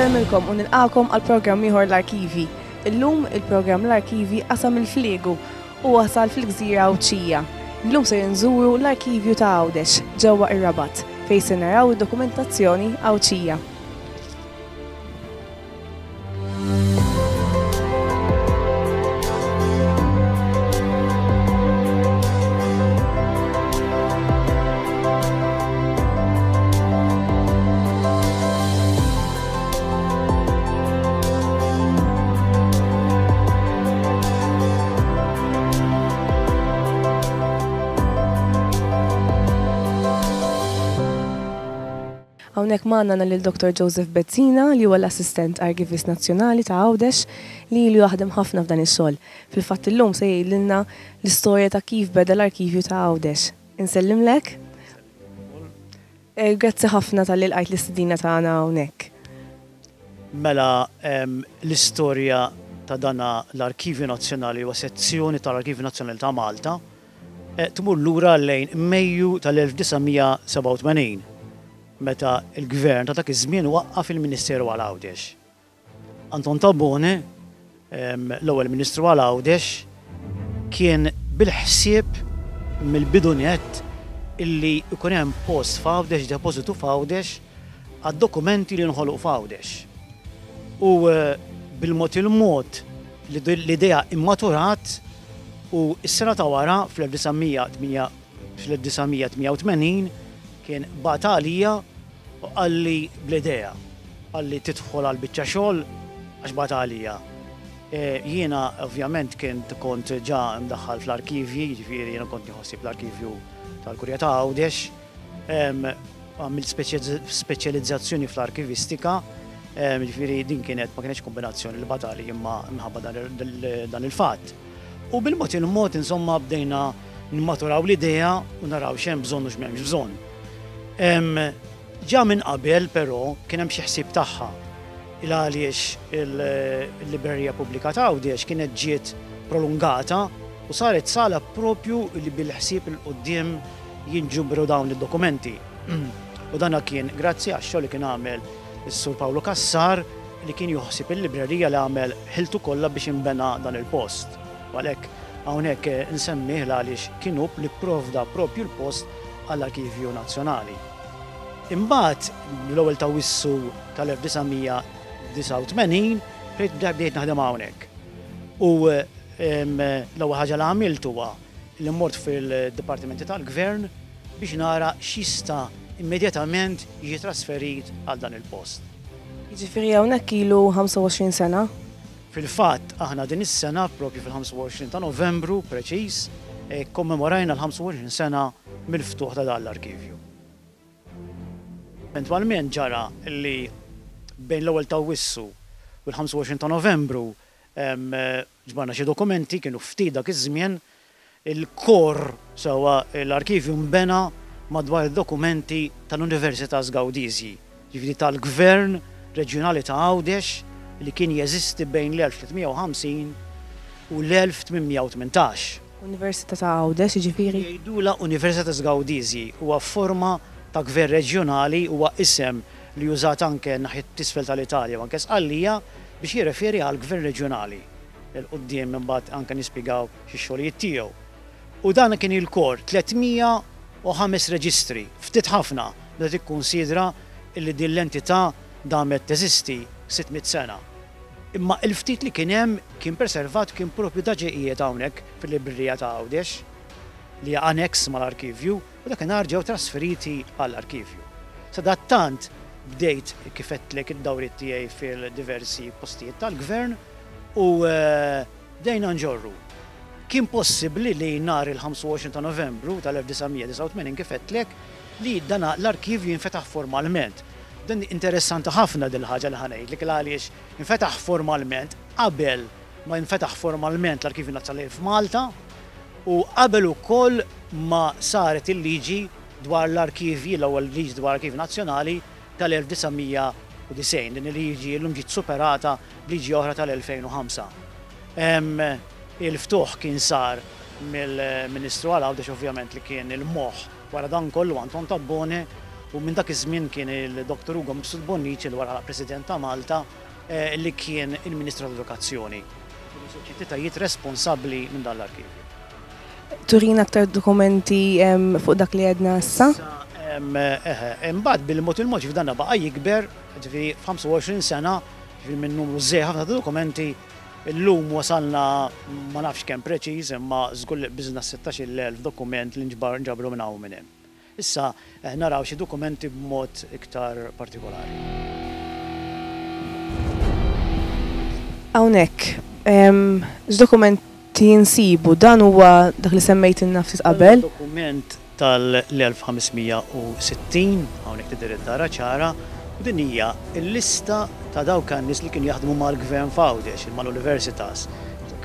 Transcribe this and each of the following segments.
Insellmilkom u nilqakom għal programm ieħor l-Arkivi. Illum il-programm l-Arkivi qasam il-fliegu u wasal fil-gżira Għawdxija. Illum se nżuru l-Arkivju ta' Għawdex ġewwa ir-Rabat fejn se naraw id-dokumentazzjoni Għawdxija. Hawnhekk magħna għandna lil Dr. Joseph Bezzina li huwa l-Assistent Arkivist Nazzjonali ta' Għawdex li ilu jaħdem ħafna f'dan ix-xogħol. Fil-fatt illum se jgħidilna l-istorja ta' kif beda l-arkivju ta' Għawdex. Insellimlek. Grazzi ħafna talli lqajt l-istedina tagħna hawnhekk. Mela l-istorja ta' dana l-Arkivju Nazzjonali huwa sezzjoni tal-Arkivju Nazzjonali ta' Malta tmur lura lejn Mejju tal-1987, meta l-Gvern ta' dak iż-żmien waqqaf il-Ministeru għal Għawdex. Anton Tabone, l-ewwel Ministru għal Għawdex, kien bil-ħsieb mill-bidu nett illi jkun hemm post f'Għawdex, depożitu f'Għawdex, għad-dokumenti li nħoloq f'Għawdex. U bil-mod il-mod l-idea immaturat U s-sena ta' wara, fl-1988, kien bagħat għalija u qalli bl-idea. Qalli tidħol għal biċċa xogħol għax bagħat għalija. Jiena ovvjament kien kont ġa mdaħħal fl-arkivji, jiġifieri jiena kont nieħu ħsieb l-arkivju tal-Kurja ta' Għawdex. Għamilt speċjalizzazzjoni fl-arkivistika, jiġifieri din kienet ma kinetx kombinazzjoni li bagħatali imma minħabba dan il-fatt. U bil-mod il-mod insomma bdejna nimmaturaw l-idea u naraw x'hemm bżonn u x'm'hemmx bżonn. Ġa minn qabel però kien hemm xi ħsieb tagħha il għaliex il-Librerija Pubblika ta' Għawdex kienet ġiet prolungata u saret sala propju li bil-ħsieb 'il quddiem jinġubru dawn id-dokumenti. U dana kien grazzi għax-xogħol li kien għamel is-Sur Pawlu Cassar li kien joħsib il-librerija li għamel ħiltu kollha biex inbena dan il-post. U għalhekk hawnhekk insemmih l-għaliex kien hu li pprovda propju l-post għall-Arkivju Nazzjonali. Imbagħad l-ewwel ta' Awwissu tal-1989 bdejt naħdem hawnhekk. U l-ewwel ħaġa li għamilt huwa li mort fil-dipartimenti tal-Gvern biex nara x'jista' immedjatament jiġi trasferit għal dan il-post. Jiġifieri hawnhekk ilu 25 sena? Fil-fatt, aħna din is-sena, propju fil-25 ta' Novembru preċiż, kkommemorajna l-25 sena mill-ftuħ ta' dan l-arkivju. Eventwalment ġara li bejn l-ewwel ta' Awwissu u l-25 ta' Novembru Ġbarna xi dokumenti, kienu ftit dak iż-żmien. Il-kor, sewwa l-arkivju nbena madwar id-dokumenti tal-Universitas Gaudisii, jiġifieri tal-Gvern Reġjonali ta' Għawdex li kien jeżisti bejn l-1350 u l-1818. Università ta' Għawdex, jiġifieri? Jgħidulha Universitas Gaudisii, huwa forma ta' gvern reġjonali, huwa isem li użat anke naħiet t'isfel tal-Italja u anke Sqallija biex jirreferi għal gvern reġjonali. 'Il quddiem imbagħad anke nispjegaw xi xogħlijiet tiegħu. U dan kien il-kor, 305 reġistri, ftit ħafna meta tikkunsidra li din l-entità damet teżisti 600 sena. Imma il-ftit li kien hemm kien preservat kien propju da ġie qiegħed hawnhekk fil-librerija ta' Għawdex li hija annex mal-arkivju. U dakinhar ġew trasferiti għall-arkivju. Sadattant bdejt kif għedtlek id-dawriet tiegħi fil-diversi postijiet tal-Gvern u bdejna nġorru. Kien possibbli li nhar il-25 ta' Novembru tal-1989 kif għedtlek li dan l-arkivju jinfetaħ formalment. Dan interessanti ħafna din il-ħaġa li ħa ngħidlek għaliex infetaħ formalment qabel ma jinfetaħ formalment l-Arkivju Nazzjonali f'Malta u qabel ukoll ma saret il-liġi dwar l-arkivji, l-ewwel liġi dwar l-Arkivju Nazzjonali tal-1990. Din il-liġi llum ġiet superata b'liġi oħra tal-2005. Il-ftuħ kien sar mill-Ministru għal Għawdex ovvjament li kien il-moħħ wara dan kollu Anton Tabbone. U minn dak iż-żmien kien il-Dr. Ugo Mifsud Bonnici li wara President ta' Malta li kien il-Ministru tal-Edukazzjoni. Kienu żewġ entitajiet responsabbli minn dan l-arkivju. Turina aktar dokumenti fuq dak li għedna issa? Eħe, imbagħad bil-mod il-mod ġifieri dan baqa' jikber, ġifieri f'25 sena, ġifieri minn numru żgħir ħafna ta' dokumenti, illum wasalna ma nafx kemm preċiż imma żgur li qbiżna s-16,000 dokument li nġabru minn hawn u minn hemm. Issa naraw xi dokumenti b'mod iktar partikolari. Hawnhekk, x'dokumenti nsibu? Dan huwa dak li semmejtilna ftit qabel. Dan huwa dokument tal-1560, hawnhekk tidher id-dara ċara, u din hija l-lista ta' dawk in-nies li kienu jaħdmu mal-gvern f'Għawdex, mal-Universitas,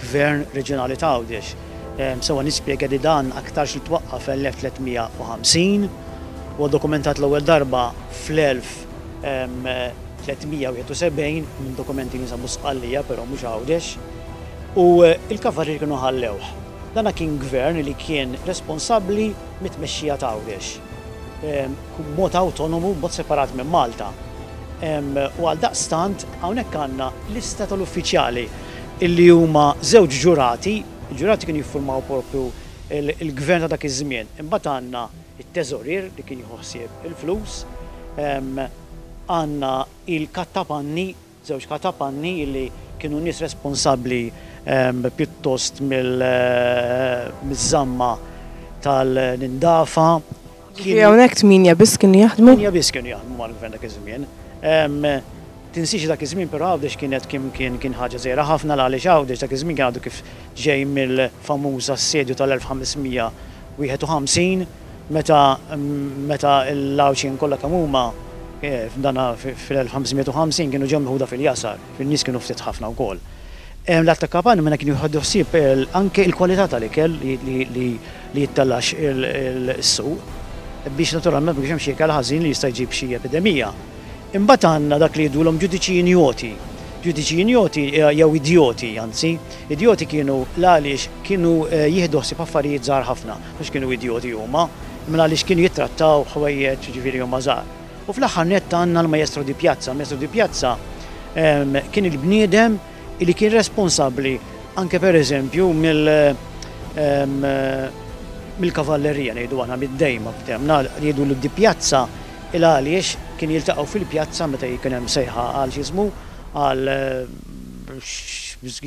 Gvern Reġjonali ta' Għawdex. Sewwa nispjega li dan aktarx li twaqqaf fl-1350, huwa dokumentat l-ewwel darba fl-1371 minn dokumenti li jinsabu Sqallija però mhux Għawdex, u l-kavallieri kienu ħallewh. Dana kien gvern li kien responsabbli mit-tmexxija ta' Għawdex b'mod awtonomu, b'mod separat minn Malta. U għaldaqstant hawnhekk għandna lista tal-uffiċjali illi huma żewġ ġurati. Il-ġurati kienu jiffurmaw propju l-gvern ta' dak iż-żmien. Imbagħad għandna t-teżorier li kien jieħu ħsieb il-flus, għandna il-kattapanni, żewġ katapanni li kienu nies responsabbli pjuttost miż-żamma tal-indafa. Ġifieri hawnhekk tmienja biss kienu jaħdmu? Tmienja biss kienu jaħdmu mal-gvern dak iż-żmien. Tinsiex li dak iż-żmien però Għawdex kienet kien kien kien ħaġa żgħira ħafna l-għaliex Għawdex dak iż-żmien kien għadu kif ġej mill-famuż assedju tal-1551 meta meta l-Għawdxin kollha kemm huma f'dana fil-1550 kienu ġew meħuda fil-jasar, in-nies kienu ftit ħafna wkoll. L-attakkapani mela kienu jieħdu ħsieb anke l-kwalità tal-ikel li jittellax is-suq biex naturalment ma jkunx hemm xi ikel ħażin li jista' jġib xi epidemija. Imbagħad għandna dak li jgħidulhom ġudiċi injoti. Ġudiċi injoti jew idjoti anzi, idjoti kienu l-għaliex kienu jieħdu ħsieb affarijiet żgħar ħafna, mhux kienu idjoti huma, imma l-għaliex kienu jittrattaw ħwejjeġ jiġifieri huma żgħar. U fl-aħħar nett għandna l-Maestro di Piazza. Il-Maestro di Piazza kien il-bniedem li kien responsabbli anke pereżempju mill mill-kavallerija ngħidu aħna mid-dejma ftemna jgħidulu di Piazza Il għaliex kien jiltaqgħu fil-pjazza meta jkun hemm sejħa għal x'ismu, għal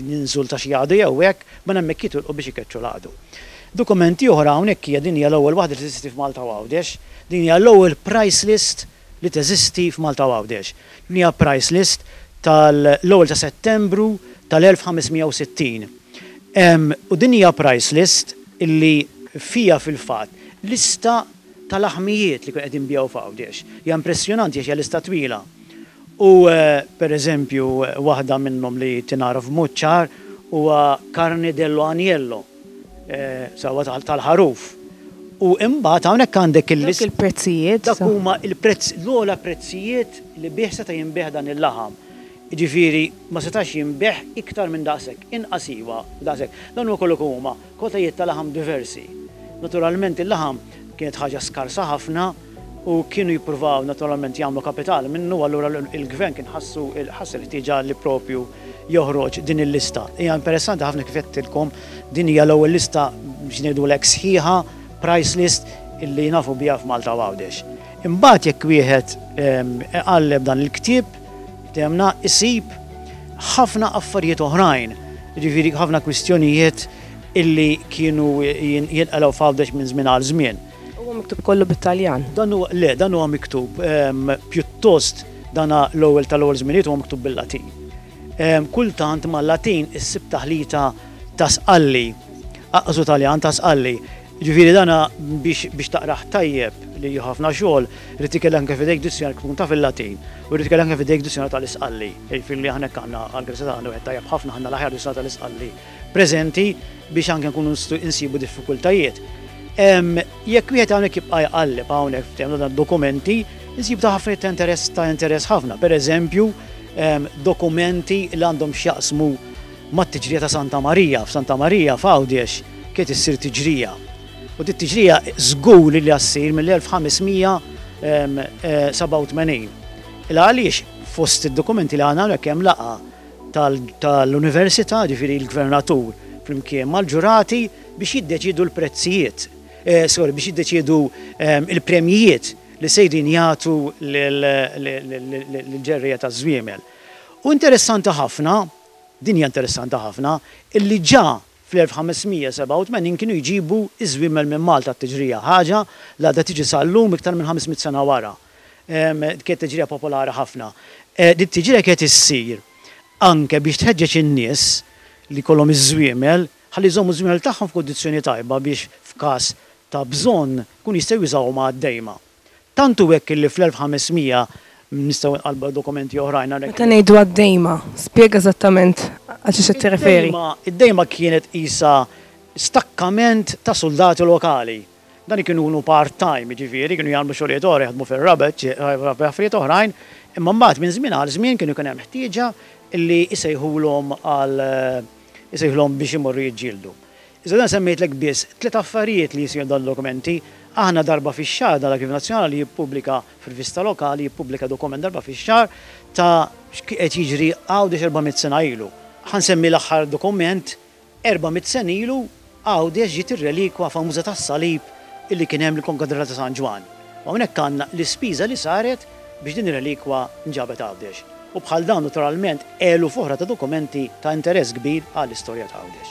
ninżul ta' xi għadu jew hekk, minn hemmhekk jitilqu biex ikeċċu l-għadu. Dokumenti oħra hawnhekk hija din hija l-ewwel waħda li teżisti f'Malta u Għawdex. Din hija l-ewwel price list li teżisti f'Malta u Għawdex. Din hija price list tal-ewwel ta' Settembru tal-1560. U din hija price list illi fiha fil-fatt lista ta' laħmijiet li kienu qed jinbiegħu f'Għawdex. Hija impressjonanti għax hija lista twila. U per eżempju waħda minnhom li tingħaraf b'mod ċar huwa carne dello agnello, sewwa tal-ħaruf. U imbagħad hawnhekk għandek il-lista. Dawk il-prezzijiet. Dak huma l-prezz, l-ogħla prezzijiet li bih seta' jinbiegħ dan il-laħam. Jiġifieri ma setax jinbiegħ iktar minn daqshekk, inqas iva, daqshekk. Dawn huwa kollu kemm huma Kwantitajiet ta' laħam diversi. Naturalment il-laħam kienet ħaġa skarsa ħafna u kienu jippruvaw naturalment jagħmlu kapital minnu allura l-gvern kien ħassu ħass il-ħtieġa li propju joħroġ din il-lista. Hija interessanti ħafna kif għedtilkom din hija l-ewwel lista biex ngħidulek sħiħa price list illi nafu biha f'Malta u Għawdex. Imbagħad jekk wieħed iqalleb dan il-ktieb Temna isib ħafna affarijiet oħrajn, jiġifieri ħafna kwistjonijiet illi kienu jinqalgħu f'Għawdex minn żmien għal żmien. Huwa miktub kollu bit-Taljan? Dan huwa, le, dan huwa miktub pjuttost dan l-ewwel tal-ewwel żminijiet huwa miktub bil-Latin. Kultant mal-Latin issib taħlita ta' Sqalli, aqqas hu Taljan ta' Sqalli. Jiġifieri dan biex biex taqrah tajjeb, li hu ħafna xogħol, irid ikollek anke f'idejk dizzjonarju tkun taf il-Latin u jrid ikollek anke f'idejk dizzjonarju tal-Isqalli. Jiġifieri li aħna hekk għandna għall-grazzja ta' Alla wieħed tajjeb ħafna għandna l-aħjar dizzjonarju tal-Isqalli preżenti biex anke nkunu nsibu diffikultajiet. Jekk wieħed hawnhekk jibqa' jqalleb hawnhekk f'termini ta' dokumenti, insib ta' ħafna ta' interess ta' interess ħafna. Pereżempju, dokumenti li għandhom x'jaqsmu mat-tiġrija ta' Santa Marija. F'Santa Marija f'Għawdex kienet issir tiġrija. U dit tiġrija żgur li ssir mill-1500. 1587. Il għaliex fost id-dokumenti li għandna hawnhekk hemm laqgħa tal-università, ġifieri l-gvernatur flimkien mal-ġurati biex jiddeċiedu l-prezzijiet, sorry, biex jiddeċiedu il-premjijiet li sejrin jagħtu lill-ġerrejja taż-żwiemel. U interessanti ħafna, din hija interessanti ħafna, illi ġa fl-1587 kienu jġibu ż-żwiemel minn Malta għat-tiġrija, ħaġa li għadha tiġi sal-lum iktar minn 500 sena wara. Kienet tiġrija popolari ħafna. Din it-tiġrija kienet issir anke biex tħeġġeġ in-nies li jkollhom iż-żwiemel ħalli jżommu ż-żwiemel tagħhom f'kundizzjoni tajba biex f'każ ta' bżonn ikunu jistgħu jużawhom għad-dejma. Tant hu hekk illi fl-1500, nistgħu nqallbu dokumenti oħrajn hawnhekk. Meta ngħidu għad-dejma, spjega eżattament għal xiex qed tirreferi. Id-dejma kienet qisha stakkament ta' suldati lokali. Dan kienu jkunu part-time, jiġifieri kienu jagħmlu xogħlijiet oħra, jaħdmu fir-rabat, affarijiet oħrajn, imma mbagħad minn żmien għal żmien kienu jkun hemm ħtieġa li jsejħulhom għal isejħulhom biex imorru jiġġieldu. Iżda dan semmejtlek biss tliet affarijiet li jsiru dan dokumenti. Aħna darba fix-xahar dan l-Arkivju Nazzjonali jippubblika f'rivista lokali jippubblika dokument darba fix-xahar ta' x'qed jiġri Għawdex 400 sena ilu. Ħa nsemmi l-aħħar dokument 400 sena ilu Għawdex ġiet ir-relikwa famuża tas-salib illi kien hemm l-Konkatedral ta' San Ġwann. U hawnhekk għandna l-ispiża li saret biex din ir-relikwa nġabet Għawdex. U bħal dawn naturalment eluf oħra ta' dokumenti ta' interess kbir għall-istorja ta' Għawdex.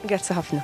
Grazzi ħafna.